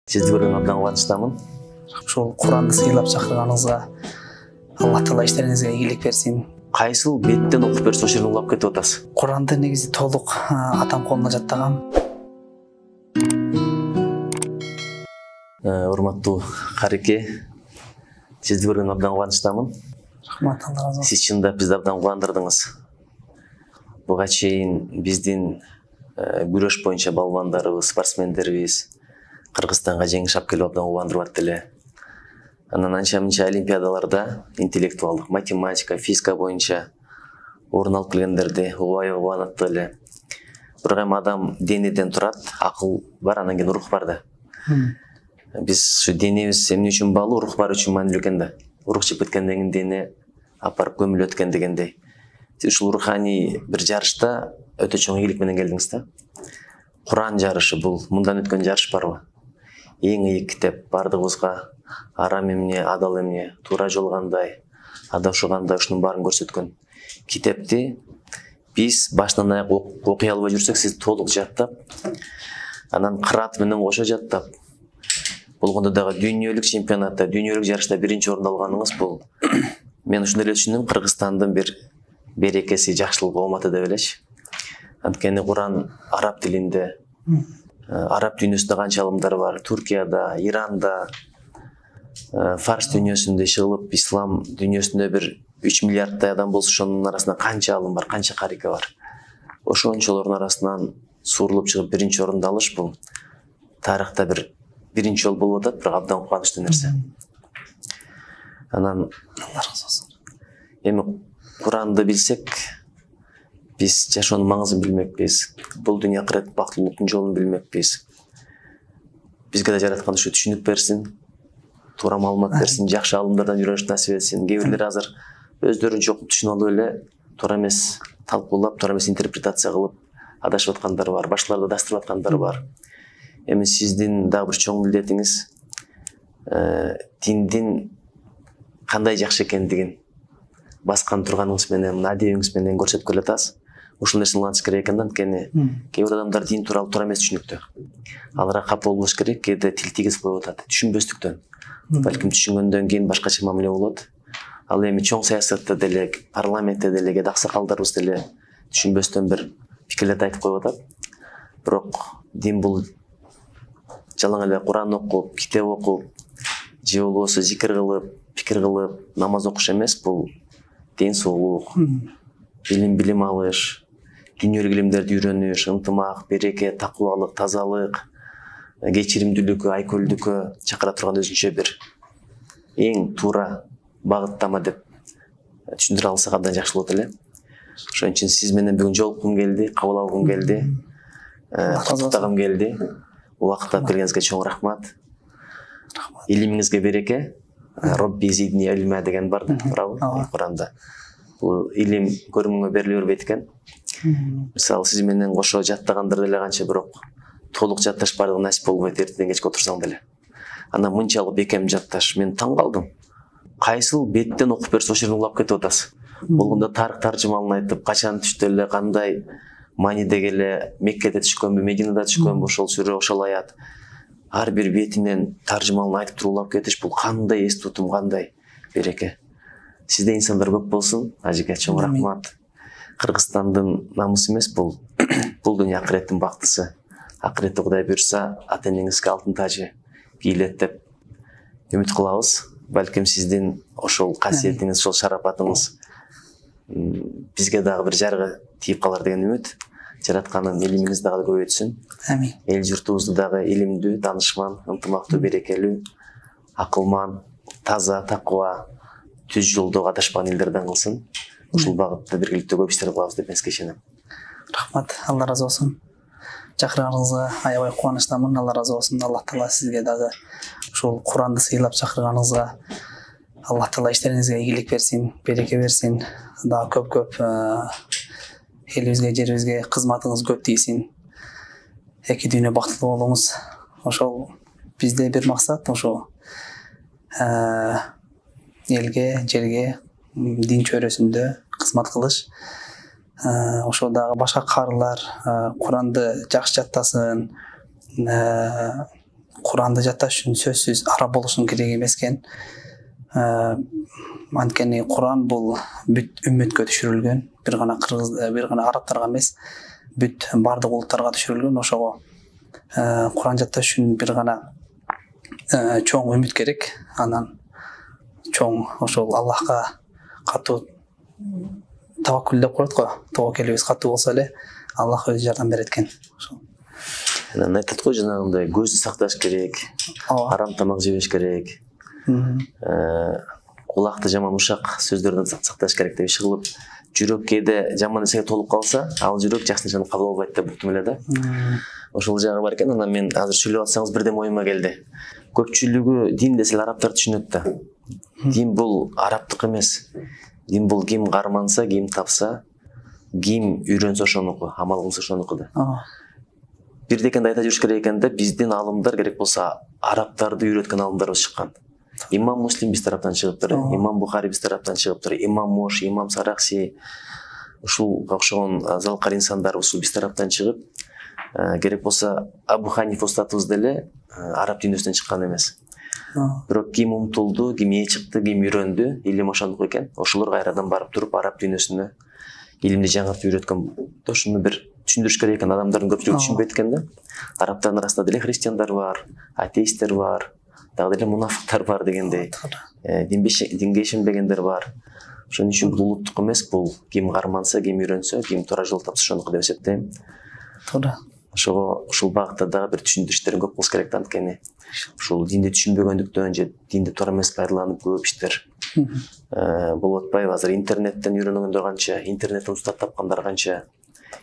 Сизди көргөнгө абдан кубанычтамын. Ошол Куранды сыйлап чакырганыңызга Аллах Таала иштериңизге ийгилик берсин. Кайсыл беттен окуп берсе ошол жерден улап кетип атасыз? Куранды негизи толук атам колуна жаттагам. Урматтуу кареке, сизди көргөнгө абдан кубанычтамын. Рахмат, Алла разы болсун. Сиз чындап бизди абдан кубандырдыңыз. Буга чейин биздин күрөш боюнча балбандарыбыз, спортсмендерибиз Кыргызстанга жеңиш алып келип абдан кубандырып атты эле. Анан анча-мынча олимпиадаларда интеллектуалдык, математика, физика боюнча орун алып келгендерди убай кубанатты эле. Бирок эми адам денеден турат, акыл бар, анан кийин рух бар да. Биз ушу денебиз эмне үчүн баалуу, рух бар үчүн маанилүү экен да. Рух чыгып кеткенден кийин дене апарып көмүлөт экен дегендей. Сиз ушул руханий бир жарышта өтө чоң ийгилик менен келдиңиз да. Куран жарышы бул мындан өткөн жарыш барбы? Эң ийик китеп, бардыгыбызга арам эмне, адал эмне, туура жол кандай, адашуу кандай, ушунун баарын көрсөткөн китепти биз башынан аяк окуй албай жүрсөк, сиз толук жаттап, анан кыраат менен кошо жаттап, болгондо дагы дүйнөлүк чемпионатта, дүйнөлүк жарышта биринчи орунду алганыңыз бул мен ушуну эле түшүндүм, Кыргызстандын бир берекеси, жакшылыгы кыматы деп элечи. Анткени Куран араб тилинде, араб дүйнөсүндө канча алымдар бар, Туркияда, Иранда, фарс дүйнөсүндө чыгылып, ислам дүйнөсүндө бир 3 миллиарддай адам болсо, ошонун арасында канча алым бар, канча карика бар. Ошончолордун арасынан суурулуп чыгып биринчи орунду алыш бул тарыхта бир биринчи жолу болуп атат, бирок абдан кубанычтуу нерсе. Анан Алла разы болсун. Эми Куранды билсек, биз жашоонун маңызын билмекпиз, бул дүйнө акырет бактылуулуктун жолун билмекпиз. Бизге да жараткан ушу түшүнүк берсин, туура маалымат берсин, жакшы алымдардан үйрөнүш насип этсин. Кээ бирлер азыр өздөрүнчө окуп түшүнүп алып эле туура эмес талкуулап, туура эмес интерпретация кылып адашып аткандар бар, башкаларды адастырып аткандар бар. Эми сиздин дагы бир чоң милдетиңиз диндин кандай жакшы экендигин баскан турганыңыз менен, адебиңиз менен көрсөтүп келе атасыз. Ушул нерсени улантыш керек экен да, анткени кээ бир адамдар дин тууралуу туура эмес түшүнүктө. Аларга капа болбош керек, кээде тил тийгизип коюп атат, түшүнбөстүктөн. Балким түшүнгөндөн кийин башкача мамиле болот. Ал эми чоң саясатта деле, парламентте деле, кээде аксакалдарыбыз деле түшүнбөстөн бир пикирлерди айтып коюп атат. Бирок дин бул жалаң эле Куран окуп, китеп окуп, же болбосо зикир кылып, пикир кылып, намаз окуш эмес, бул ден соолук, билим алыш, дүйнөлүк илимдерди үйрөнүш, ынтымак, береке, такубалык, тазалык, кечиримдүүлүккө, айкөлдүккө чакыра турган өзүнчө бир эң туура багыттама деп түшүндүрө алсак абдан жакшы болот эле. Ошон үчүн сиз менен бүгүн жолуккум келди, кабыл алгым келди, куттуктагым келди. Убакыт алып келгениңизге чоң рахмат. Илимиңизге береке. Робби зидни илма деген бар да, туурабы? Куранда. Бул илим көрүнгөнгө бериле бербейт экен. Мисалы сиз менен кошо жаттагандар деле канча, бирок толук жатташ бардыгы насип болбойт, эртеден кечке отурсаң деле. Анан мынчалык бекем жатташ, мен таң калдым. Кайсыл беттен окуп берсе ошол жерден улап кетип атасыз. Болгондо тарых таржымалын айтып, качан түштү эле, кандай мааниде келе, Меккеде түшкөнбү, Мединада түшкөнбү ошол сүрө, ошол аят. Ар бир бетинен таржымалын айтып туруп улап кетиш, бул кандай эс тутум, кандай береке. Сизде инсандар көп болсун. Ажеке чоң рахмат. Кыргызстандын намысы эмес бул. Бул дүйнө акыреттин бактысы. Акыретте Кудай буйрса, ата-энеңизге алтын тажы кийлет деп үмүт кылабыз. Балким сиздин ошол касиетиңиз, ошол шарапатыңыз бизге дагы бир жарыгы тийип калар деген үмүт. Жаратканын илимиңиз дагы көбөйтсүн. Амин. Эл журтубузду дагы илимдүү, данышман, ынтымактуу, берекелүү, акылман, таза, такыба, түз жолдогу адашпаган элдерден кылсын. Ушул багытта биргеликте көп иштер кылабыз деп мен сизге ишенем. Рахмат, Алла разы болсун. Чакырганыңызга аябай кубанычтамын. Алла разы болсун. Аллах Таала сизге дагы ушул Куранды сыйлап чакырганыңызга Аллах Таала иштериңизге ийгилик берсин, береке берсин. Дагы көп элибизге, жерибизге кызматыңыз көп тийсин. Эки дүйнө бактылуу болуңуз. Ошол бизде бир максат, ошо элге, жерге, дин чөйрөсүндө кызмат кылыш. Ошо дагы башка карылар Куранды жакшы жаттасын, Куранды жатташ үчүн сөзсүз араб болушуң керек эмес экен. Анткени Куран бул бүт үммөткө түшүрүлгөн, бир гана арабтарга эмес, бүт бардык улуттарга түшүрүлгөн. Ошого Куран жатташ үчүн бир гана чоң үмүт керек. Анан чоң ошол Аллахка катуу таваккул деп коет го. Тобокелибиз катуу болсо эле Аллах өзү жардам берет экен. Ошол. Анан айтат го жанагындай көздү сакташ керек, арам тамак жебеш керек. Кулакты жаман ушак сөздөрдөн сакташ керек деп иши кылып, жүрөк кээде жаман нерсеге толуп калса, ал жүрөк жакшы нерсени кабыл албайт деп уктум эле да. Ошол жагы бар экен. Анан мен азыр сүйлөп атсаңыз бирдем оюма келди. Көпчүлүгү дин десе арабтар түшүнөт да. Дин бул арабтык эмес. Дин бул ким карманса, ким тапса, ким үйрөнсө ошонуку, амал кылса ошонуку да. Бирдекенди айта жүрүш керек экен да, биздин алымдар керек болсо арабтарды үйрөткөн алымдарыбыз чыккан. Имам Муслим биз тараптан чыгыптыр, Имам Бухари биз тараптан чыгыптыр, Имам Мош, Имам Саракси, ушул окшогон залкар инсандар ушул биз тараптан чыгып, керек болсо Абу Ханифа устатыбыз деле араб дүйнөсүнөн чыккан эмес. Бирок ким умтулду, ким ээ чыкты, ким үйрөндү, илим ошондук экен. Ошолор кайрадан барып туруп араб дүйнөсүнө илимди жаңыртып үйрөткөн. Ошону бир түшүндүрүш керек экен, адамдардын көпчүлүгү түшүнбөйт экен да. Арабтардын арасында деле христиандар бар, атеисттер бар, дагы деле мунафыктар бар дегендей. Динге ишенбегендер бар. Ошон үчүн бул улуттук эмес, бул ким карманса, ким үйрөнсө, ким туура жол тапса ошонуку деп эсептейм. Туура. Ошого ушул багытта дагы бир түшүндүрүштөр көп болсо керек да, анткени ушул динди түшүнбөгөндүктөн же динди туура эмес пайдаланып көп иштер болуп атпайбы? Азыр интернеттен үйрөнгөндөр канча, интернеттен устат тапкандар канча.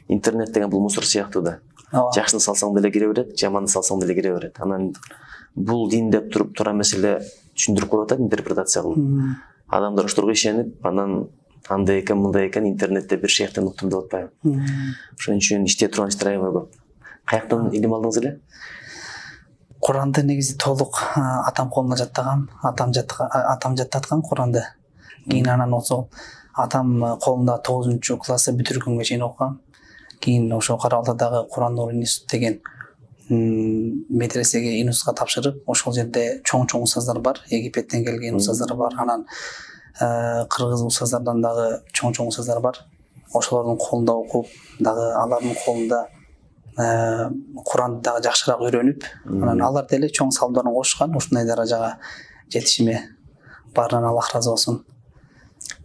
Интернет деген бул мусор сыяктуу да. Жакшыны салсаң деле кире берет, жаманды салсаң деле кире берет. Анан бул дин деп туруп туура эмес эле түшүндүрүп коюп атат, интерпретация кылып. Адамдар ошолорго ишенип, анан андай экен, мындай экен, интернетте бир шейхтен уктум деп атпайбы? Ошон үчүн иштей турган иштер аябай көп. Каяктан илим алдыңыз эле? Куранды негизи толук атам колуна жаттагам. Атам жаттаткан Куранды. Кийин анан ошол атам колунда 9-классы бүтүргөнгө чейин окугам. Кийин ошо Кара Алтайдагы Куран Нур институт деген медресеге институтка тапшырып, ошол жерде чоң устаздар бар, Египеттен келген устаздар бар, анан кыргыз устаздардан дагы чоң устаздар бар. Ошолордун колунда окуп, дагы алардын колунда Куранды дагы жакшыраак үйрөнүп, анан алар деле чоң салымдарын кошушкан, ушундай даражага жетишиме. Баарынан Аллах ыраазы болсун.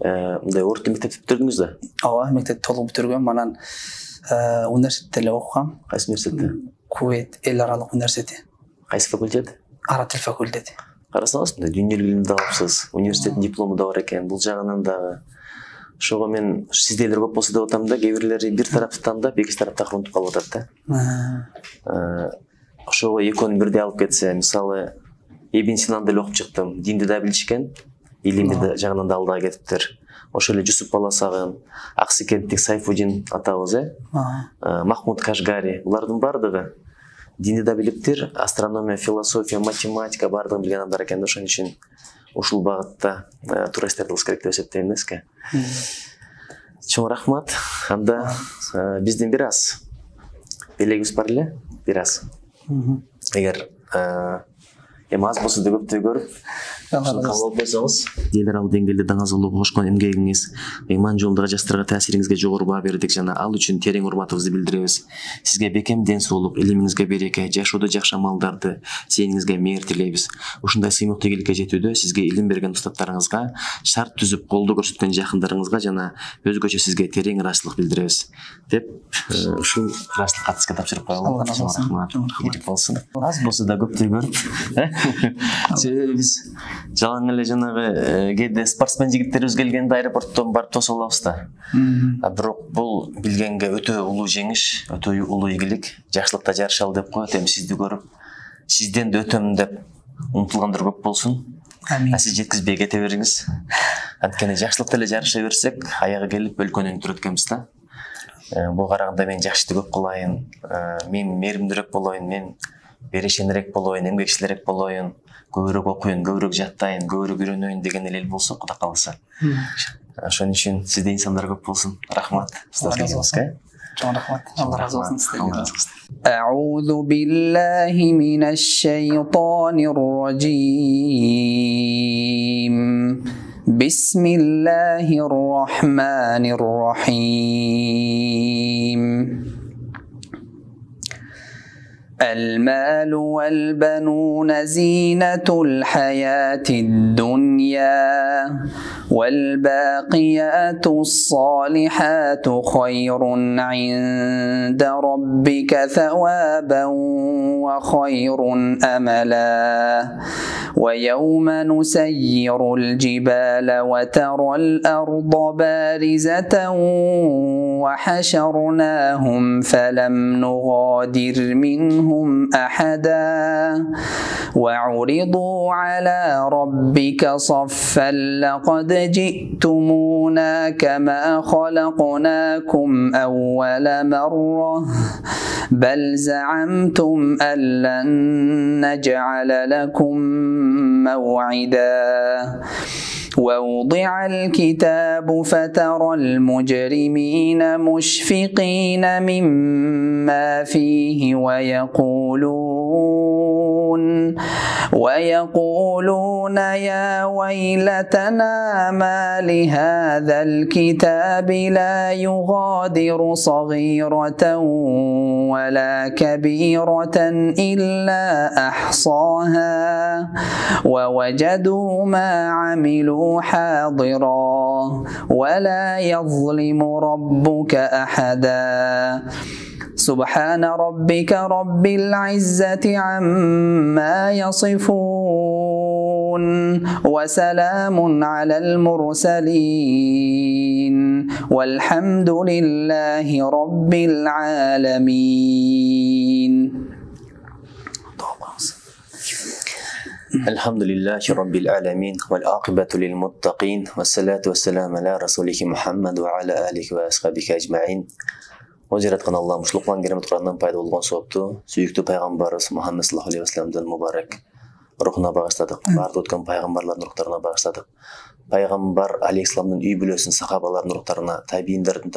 Мындай орто мектепти бүтүрдүңүз да? Ооба, мектепти толук бүтүргөм. Анан университетте эле окугам. Кайсы университетте? Кувейт эл аралык университети. Кайсы факультет? Араб тил факультети. Карасаңыз, дүйнөлүк илимди алыпсыз. Университеттин диплому да бар экен. Бул жагынан дагы ошого мен сиздейлер көп болсо деп атам да, кээ бирлери бир тарапты тандап, экинчи тарапта урунтуп калып атат да. Ошого экөөнү бирдей алып кетсе, мисалы Ибн Синаны деле окуп чыктым. Динди да билишкен, илимди жагынан да алдыга кетиптир. Ошол эле Жусуп Баласагын, Аксыкенттик Сайфудин атабыз, Махмуд Кашгари, булардын бардыгы динди да билиптир, астрономия, философия, математика бардыгын билген адамдар экен да. Ошон үчүн ушул багытта туура иштерди кылыш керек деп эсептейм да сизге. Чоң рахмат. Анда биздин бир аз белегибиз бар эле, бир аз. Эгер эми аз болсо да көптөй көрүп, кабыл алып койсоңуз, элдер ал деңгээлде даңазалоого кошкон эмгегиңиз, ыйман жолундагы жаштарга таасириңизге жогору баа бердик жана ал үчүн терең урматыбызды билдиребиз. Сизге бекем ден соолук, илимиңизге береке, жашоодо жакшы амалдарды, сээниңизге мээр тилейбиз. Ушундай сыймыктуу ийгиликке жетүүдө сизге илим берген устаттарыңызга, шарт түзүп колдоо көрсөткөн жакындарыңызга жана өзгөчө сизге терең ыраазычылык билдиребиз деп ушул ыраазычылык катты сизге тапшырып коелу. Рахмат. Ийгилик болсун. Аз болсо да көптөй көрүп, себеби биз жалаң эле жанагы кээде спортсмен жигиттерибиз келгенде аэропорттон барып тосуп алабыз да. Бирок бул билгенге өтө улуу жеңиш, өтө улуу ийгилик, жакшылыкта жарышалы деп коет. Эми сизди көрүп, сизден да өтөм деп умтулгандар көп болсун. Сиз жеткизбей кете бериңиз. Анткени жакшылыкта эле жарыша берсек, аягы келип өлкөнү өнүктүрөт экенбиз да. Буга караганда мен жакшы ишти көп кылайын, мен мээримдүүрөөк болоюн, мен берешенирээк болоюн, эмгекчилирээк болоюн, көбүрөөк окуйын, көбүрөөк жаттайын, көбүрөөк үйрөнөйүн деген эл болсо, Кудай кааласа. Ошон үчүн сизде инсандар көп болсун. Рахмат. чоң рахмат. Алла разы болсун сиздерге. أعوذ بالله من الشيطان الرجيم بسم الله الرحمن الرحيم المال والبنون زينة الحياة الدنيا والباقيات الصالحات خير عند ربك ثوابا وخير أملا ويوم نسير الجبال وترى الأرض بارزة وحشرناهم فلم نغادر منهم أحدا وعرضوا على ربك صفا لقد جئتمونا كما خلقناكم أول مرة بل زعمتم أن لن نجعل لكم موعدا ووضع الكتاب فترى المجرمين مشفقين مما فيه ويقولون يا ويلتنا ما لهذا الكتاب لا يغادر صغيرة ولا كبيرة إلا أحصاها ووجدوا ما عملوا حاضرا ولا يظلم ربك أحدا سبحان ربك رب العزة عما يصفون وسلام على المرسلين والحمد لله رب العالمين. الحمد لله رب العالمين والعاقبة للمتقين والصلاة والسلام على رسوله محمد وعلى آله وأصحابه أجمعين. О жараткан Аллахым ушул Куран керемет Курандан пайда болгон соопту сүйүктүү пайгамбарыбыз Мухаммед саллаллаху алейхи вассаламдын мубарак рухуна багыштадык. Бардык өткөн пайгамбарлардын рухтарына багыштадык. Пайгамбар алейхиссаламдын үй бүлөсүнүн сахабаларынын рухтарына, табийиндердин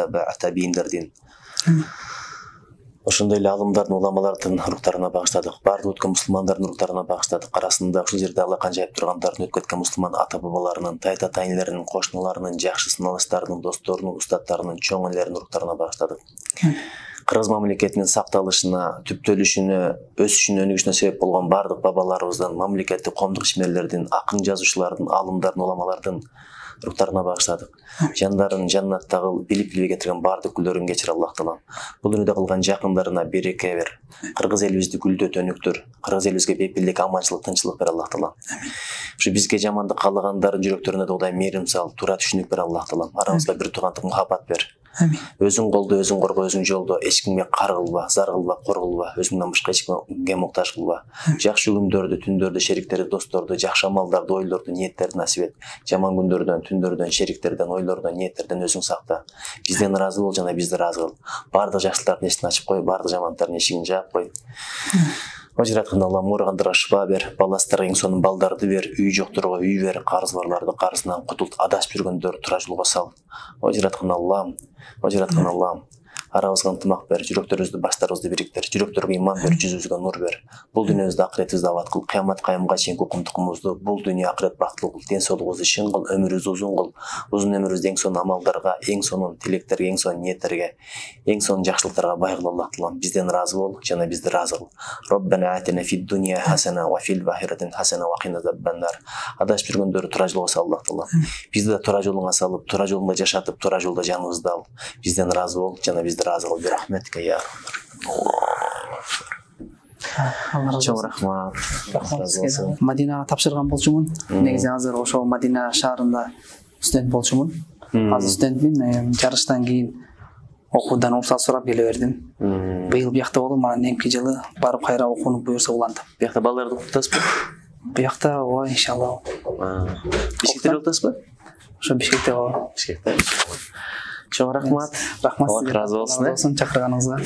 ошондой эле алымдардын, уламалардын рухтарына багыштадык. Бардык өткөн мусулмандардын рухтарына багыштадык. Арасында ушул жерде Аллахка жайып тургандардын, өтүп кеткен мусулман ата бабаларынын, тайта тайнелеринин, кошуналарынын, жакшы сыналыштарынын, досторунун, устаттарынын, чоң элелеринин рухтарына багыштадык. Кыргыз мамлекетинин сакталышына, түптөлүшүнө, өсүшүнө, өнүгүшүнө себеп болгон бардык бабаларыбыздын, мамлекеттик коомдук ишмерлердин, акын жазуучулардын, алымдардын, уламалардын рухтарына багыштадык. Жандарын жаннатта кыл, билип кетирген бардык күлдөрүн кечир Аллах таалам. Бул дүйнөдө кылган жакындарына береке бер. Кыргыз элибизди гүлдөт, өнүктүр. Кыргыз элибизге бепилдик, аманчылык, тынччылык бер Аллах таалам. Ушу бизге жамандык каалагандардын жүрөктөрүнө да Кудай мээрим сал, туура түшүнүк бер Аллах таалам. Арабызга бир туугандык, мухаббат бер. Өзүң колдо, өзүң корго, өзүң жолдо, эч кимге кар кылба, зар кылба, кор кылба, өзүңдөн башка эч кимге муктаж кылба. Жакшы күндөрдү, түндөрдү, шериктерди, досторду, жакшы амалдарды, ойлорду, ниеттерди насип эт. Жаман күндөрдөн, түндөрдөн, шериктерден, ойлордон, ниеттерден өзүң сакта. Бизден ыраазы бол жана бизди ыраазы кыл. Бардык жакшылыктардын эшигин ачып кой, бардык жамандыктардын эшигин жаап кой. О жараткан Аллахым ооругандарга шыфа бер, баластарга эң сонун балдарды бер, үй жокторго үй бер, карыз барларды карызынан кутулт, адашып жүргөндөр туура жолго сал. О жараткан Аллахым, арабызга ынтымак бер, жүрөктөрүбүздү, баштарыбызды бириктир, жүрөктөргө иман бер, жүзүбүзгө нур бер. Бул дүйнөбүздө акыретибизди абад кыл, кыямат кайымга чейинки укум-тукумубузду, бул дүйнө акырет бактылуу кыл, ден соолугубузду чың кыл, өмүрүбүздү узун кыл. Узун өмүрүбүздү эң сонун амалдарга, эң сонун тилектерге, эң сонун ниеттерге, эң сонун жакшылыктарга бай кыл Аллах таалам. Бизден ыраазы бол, жана бизди ыраазы кыл. Роббана атина фид дунья хасана ва фил ахирати хасана ва кина азаббан-нар. Адашып жүргөндөрдү туура жолго сал Аллах таалам. Бизди да туура жолуңа салып, туура жолунда жашатып, туура жолдо жаныбызды ал. Бизден ыраазы бол, жана бизди ыраазы кыл. Рахметке я. Чоң рахмат. Мадинага тапшырган болчумун. Негизи азыр ошол Мадина шаарында студент болчумун. Азыр студентмин. Жарыштан кийин окуудан уруксат сурап келе бердим. Быйыл биякта болдум, анан эмки жылы барып кайра окууну буюрса улантам. Биякта балдарды окутасызбы? Биякта ооба, иншалла. Бишкекте окутасызбы? Ошо Бишкекте ооба. Бишкекте. Чоң рахмат. Рахмат сизге. Алла разы болсун. Чакырганыңызга.